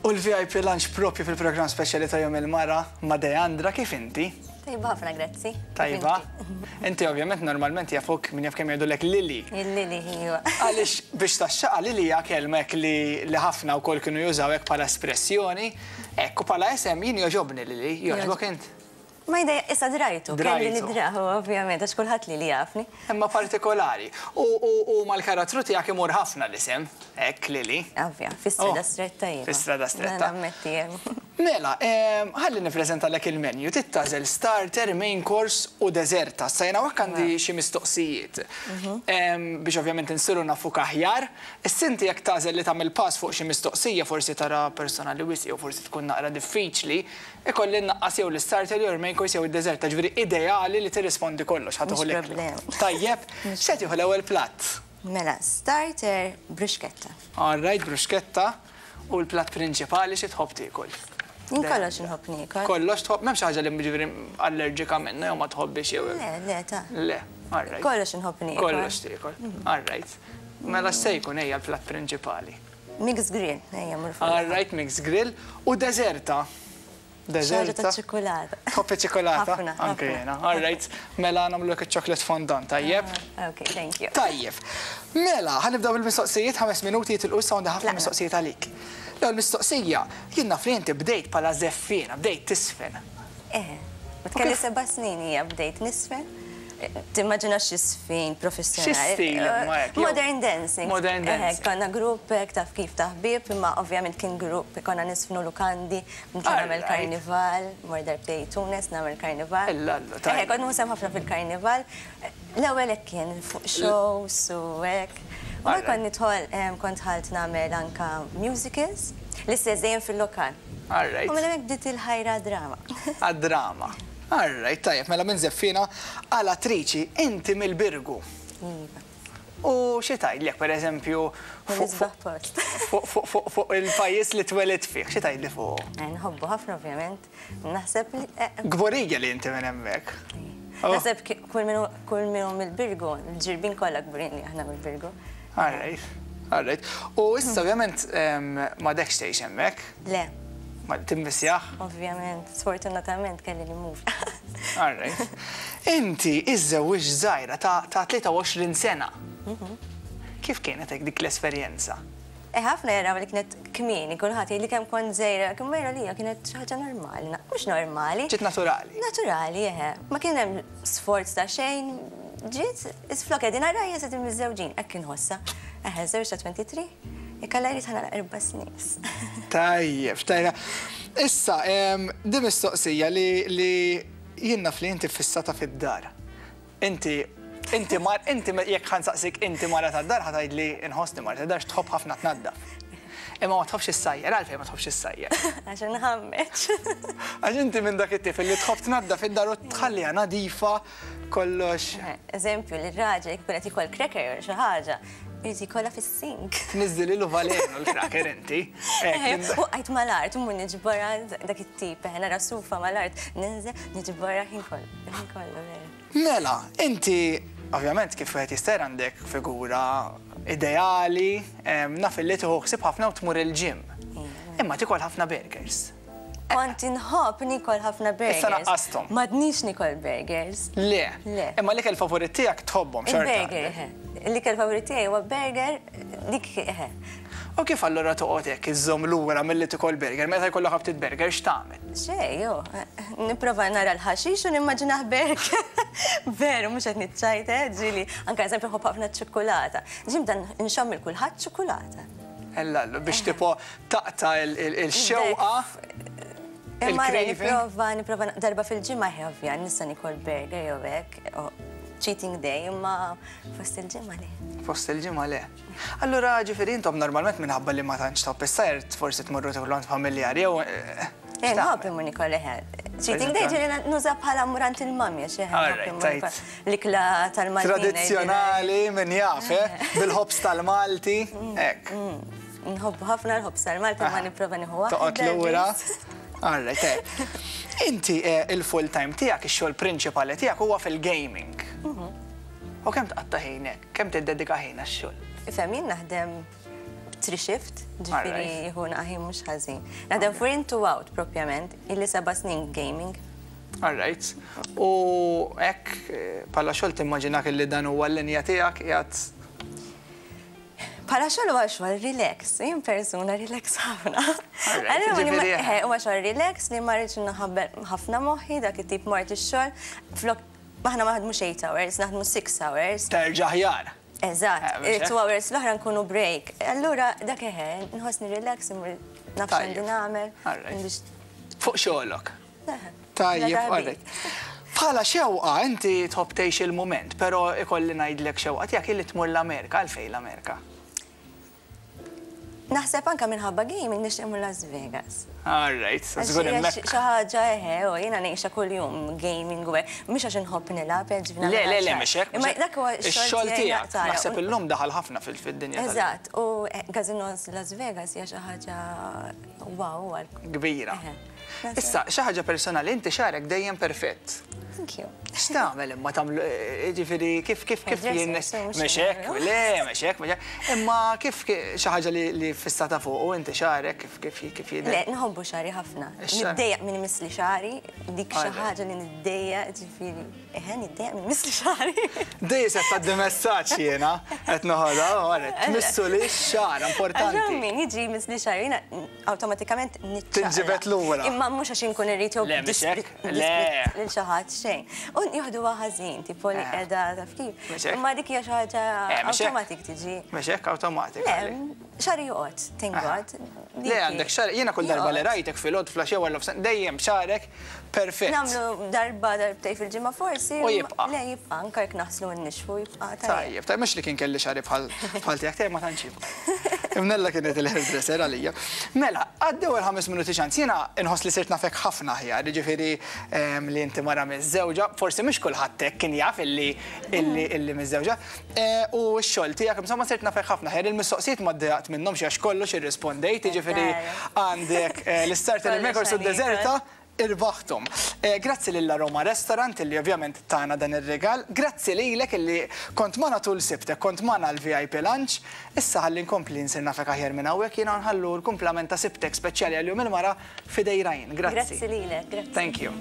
U l-VIP Lunch propju fil-programm speċjali ta' Jum il-Mara ma' Deandra, kif inti? Tajba ħafna, grazzi. Tajba. Inti ovvjament normalment jafuk min jaf kemm jgħidulek Lili. Il-Lili, iva. Għaliex biex taxxaqa Lili hija kelma hekk li li ħafna wkoll kienu jużaw hekk bħala espressjoni. Hekk u bħala isem jien jogħġobni Lili, jogħġbok int? Ma jdejja, issa drajtu, kelli nidrahu ovvjament, għax kulħadd lili jafni. Imma partikolari. U, u, u mal-karattru tiegħek imur ħafna l-isem, hekk Lili. Ovvja, fi-strada stretta iva. Fi-strada stretta. Nammetti hemm. Mela, ħalli nippreżentalek il-menu. Trid tagħżel starter, main course u deżerta. Issa jien hawnhekk għandi xi mistoqsijiet biex ovvjament insiru nafuk aħjar. Issa inti jekk tagħżel li tagħmel pass fuq xi mistoqsija forsi tara personali wisq jew forsi tkun naqra diffiċli, Ikolli nnaqqas jew l-istarter jew il-main course jew id-deżerta, ġifieri ideali li tirrispondi kollox, ħa tieħu l-ikla. Tajjeb, x'se tieħu l-ewwel platt? Mela, starter bruschetta. All right, bruschetta. U l-platt prinċipali xi tħobb tiekol? Jien kollox inħobb niekol. Kollox tħobb? M'hemmx xi ħaġa li ġifieri allerġika minnha jew ma tħobbhiex jew. Le, le, ta. Le, all right. Kollox inħobb niekol. Kollox tiekol, all right. Mela x'se jkun ejja l-platt prinċipali? Mixed grill, ejja mmur fuq. All right, mixed grill. U deżerta? Deżerta. Xi ħaġa taċ-ċikkulata. Tħobb iċ-ċikkulata? Ħafna. Anke jiena. All right. Mela nagħmlulek iċ-chocolate fondant, tajjeb? Ok, thank you. Tajjeb. Mela, ħa nibdew bil-mistoqsijiet, ħames minuti jitilqu issa għandi ħafna mistoqsijiet għalik. L-ewwel mistoqsija, jien naf li inti bdejt bħala żeffiena, bdejt tiżfen. Eħe. Meta kelli seba' snin hija bdejt niżfen. Timmaġina xi żfin professjonali. Xi stil imma hekk? Modern dancing. Modern dancing. Eħe, konna grupp hekk taf kif ta' ħbieb, imma ovvjament kien grupp konna niżfnu lukandi, kont nagħmel karnival, mort darbtejn Tunis nagħmel karnival. Illallu, tajjeb. Eħe, kont nieħu sehem ħafna fil-karnival. L-ewwel hekk kien fuq shows u hekk. U mbagħad kont nidħol, kont dħalt nagħmel anke musicals, l-istess dejjem fil-lokal. All right. U minn hemmhekk bdiet il-ħajra għad-drama. Għad-drama. All right, tajjeb, mela minn żeffiena għal attriċi, inti mill-Birgu. Iva. U xi tgħidli jekk pereżempju fuq post. Fuq il-pajjiż li twelidt fih, xi tgħidli fuqu? Eh, nħobbu ħafna ovvjament. Naħseb li. Eh, Kburija li inti minn hemmhekk. Oh. Naħseb kull min hu mill-Birgu, l-ġirbin kollha kburin li aħna mill-Birgu. All right. All right. U issa ovvjament m'għadekx tgħix hemmhekk. Le. Ma timmissjah? Ovvjament, sfortunatament kelli nimur. All right. Inti iżżewwiġt żgħira ta' 23 sena. Mhm. Kif kienet hekk dik l-esperjenza? Eh, ħafna jaraw li kienet kmieni, kulħadd jgħidli kemm kont żgħira, kemm ma lija kienet xi ħaġa normali, mhux normali. Ġiet naturali. Naturali, eħe. Ma kien hemm sforz ta' xejn, ġiet, flok qegħdin għarajja se miżżewġin, hekk inħossha. Eħe, żewġ ta' 23, jekk Alla jrid ħa nagħlaq erba' snin. Tajjeb, tajjeb. Issa, di mistoqsija li li jien naf li inti ffissata fid-dar. Inti, inti mar, inti jekk ħa nsaqsik inti mara tad-dar ħa tgħidli inħossni mara tad-dar x'tħobb ħafna tnaddaf. Imma ma tħobbx issajjar, għalfejn ma tħobbx issajjar? Għax inħammeġ. Għax inti minn dak it-tip li tħobb tnaddaf id-dar u tħalliha nadifa kollox. Eżempju, li r-raġel jkun qed jiekol cracker jew xi ħaġa, irid jikolha fis-sink. Tniżżililu valenu l-cracker inti. Waqajt mal-art, u mmur niġborha dak it-tip, nara sufa mal-art, ninżel niġborha ħin kollu. Ħin kollu vera. Mela, inti ovvjament kif wieħed jista' jara għandek figura ideali, naf illi tieħu ħsieb ħafna u tmur il-gym. Imma tikol ħafna burgers. Kont inħobb nikol ħafna burgers. Issa naqqasthom. M'għadnix nikol burgers. Le. Le. Imma l-ikel favorit tiegħek tħobbhom xorta. Il-burger, eħe. L-ikel favorit tiegħi huwa burger, dik eħe. U kif allura toqgħod hekk iżżomm lura milli tikol burger? Meta jkollok aptit burger x'tagħmel? Xejn, hu. Nipprova nara l-ħaxix u nimmaġinah burger. Veru, mhux qed niċċajta, eh, ġieli. Anke eżempju nħobb ħafna ċ-ċikkulata. Ġieli nibda nxomm 'il kulħadd ċikkulata. Ellallu, biex tipo taqta' il-xewqa. Imma le nipprova, nipprova darba fil-ġimgħa eħe ovvja, nista' nikol burger jew hekk, cheating day, imma fost il-ġimgħa le. Fost il-ġimgħa le. Allura ġifieri intom normalment minħabba li ma tantx tħobb is-sajr forsi tmorru tiklu għand familjari jew. Eh, nħobb immur nikol eħe. Cheating day ġieli nuża bħala mmur għand il-mami għax eħe. L-ikla tal-Malti. Tradizzjonali min jaf, eh? Bil-ħobż tal-Malti, mm, hekk. Mm. Nħobbu ħafna l-ħobż tal-Malti ma nipprova nieħu waħda. Toqgħod lura. Alright, eh. Inti eh, il-full time tiegħek, ix-xogħol prinċipali tiegħek huwa fil-gaming. Mhm. U kemm tqatta' ħinek? Kemm tiddedika ħin għax-xogħol? Ifhem, jien naħdem. Three shift, ġifieri jieħu ħin mhux ħażin. Naħdem four in two out propjament, ili 7 snin gaming. All right. U hekk, bħala xogħol timmaġinak li dan huwa l-linja tiegħek qiegħed? Bħala xogħol huwa xogħol relax, jien persuna relax ħafna. Huwa xogħol relax li ma rridx naħabbel ħafna moħħi, dak it-tip mort ix-xogħol. Flok aħna ma naħdmux 8 hours, naħdmu 6 hours. Terġa' aħjar. Eżatt, 2 hours l-oħra nkunu break. Allura dak eħe, nħossni relax, naf x'għandi nagħmel. Fuq xogħolok. Tajjeb, alright. Bħala xewqa, inti tħobb tgħix il-moment, però ikolli ngħidlek xewqa tiegħek illi tmur l-Amerika, għalfejn l-Amerika? Naħseb anka minħabba gaming nixtieq immur Las Vegas. All right, żgur hemmhekk. Xi ħaġa eħe, u jiena ngħixha kuljum gaming u hekk, mhux għax inħobb nilgħab, ġifieri. Le, le, le, mhux hekk. Imma dak huwa Ix-xogħol tiegħek. Naħseb illum daħal ħafna fid-dinja. Eżatt, u casinos Las Vegas hija xi ħaġa wow. Kbira. Issa, xi ħaġa personali, inti xagħrek dejjem perfett. Thank you. X'tagħmel imma tagħmlu, ġifieri kif jien mhux hekk, le, mhux hekk, mhux hekk. Imma kif xi ħaġa li fissata fuq u inti xagħrek kif jidher? Le, nħobbu xagħri ħafna. Niddejjaq min imissli xagħri, dik xi ħaġa li niddejjaq, ġifieri, eħe, niddejjaq min imissli xagħri. Dej se tgħaddi messaġġ jiena qed noħodha, tmissu li x-xagħar importanti. Għax min jiġi jmissli xagħri, jiena awtomatikament niċċaqlaq. Tinġibed lura. Imma mhux għax inkun irrid jew Le, mhux hekk. Le. lil xi ħadd xejn. U jieħduha ħażin, tipo li qiegħda taf kif. Mhux hekk. Imma dik hija xi ħaġa Mhux hekk. automatic tiġi. Mhux hekk awtomatik. Le, xagħri joqgħod, thank God. Le, għandek xagħar, jiena kull darba li rajtek fil-ħodd flaxija wara dejjem xagħrek perfett. Nagħmlu darba darbtej fil-ġimgħa forsi. U jibqa'. Le, jibqa', anke jekk naħslu n-nixfu jibqa' tajjeb. Tajjeb, tajjeb, mhux li kien kelli xagħri bħal tiegħek, tiegħek ma tantx jibqa'. Imnella kienet il-hairdresser għalija. Mela, għaddew il-5 minuti ċans, jiena inħoss li sirt nafek ħafna aħjar, ġifieri li inti mara miżżewġa, forsi mhux kulħadd hekk kien jaf illi miżżewġa. U x-xogħol tiegħek, insomma sirt nafek ħafna aħjar, il-mistoqsijiet ma ddejjaqt minnhom xi għax kollox irrispondejt, ġifieri għandek l-istarter, il-main course u d-deżerta, irbaħtum. Grazzi lil Roma Restaurant illi ovvjament tana dan ir-regal, grazzi lilek illi kont magħna tul sibtek, kont magħna l-VIP Lunch, issa ħalli nkompli nsir nafek aħjar minn hawnhekk jiena nħallu l-kumplament ta' sibtek speċjali għal Jum il-Mara f'idejn Ryan. Grazzi. Grazzi lilek, grazzi. Thank you.